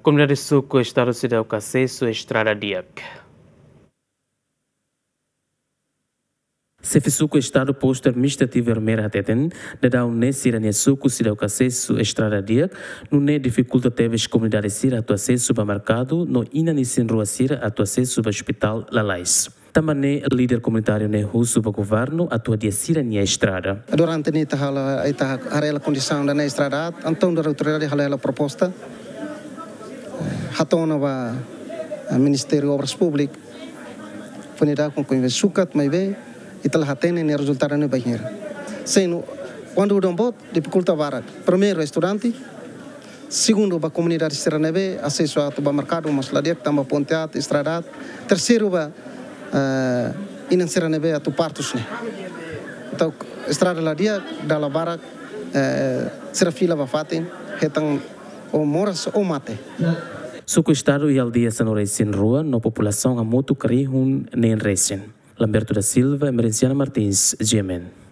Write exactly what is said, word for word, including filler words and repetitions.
Komunidade suku estadu seidauk asesu estrada di'ak. Xefe suku estadu postu administrativu Ermera hateten, daudaun ne'e sira-nia suku seidauk asesu estrada di'ak, nune'e difikulta tebes komunidade sira atu asesu ba merkadu, no inan-isin-rua sira atu asesu ba ospitál lalais. Tanba ne'e líder komunitáriu ne'e husu ba governu atu hadi'a sira-nia estrada. Durante ne'e ita halo, ita haree hela kondisaun ida-ne'e estrada, entaun daudaun autoridade halo hela proposta. Hato'o ona ba, eh, Ministériu Obras Públikas. Fó nia daudaun konveni sukat maibé ita la hatene nia rezultadu ne'e bainhira. Sendo, kuandu udan boot, difikulta barak. Primeiru, estudante. Segundu, ba komunidade sira ne'ebé asesu atu ba merkadu mós la di'ak tanba ponte aat, estrada aat. Terseiru, ba, eh, inan sira ne'ebé atu partus ne'e. Entaun, estrada la di'ak, dala barak, eh, sira fila ba fatin, hetan ou moras ou mate. Suku estadu iha aldeia sanulu-resin-rua no populasaun hamutuk rihun neen resin. Lamberto da Silva, Emerenciana Martins, G M N.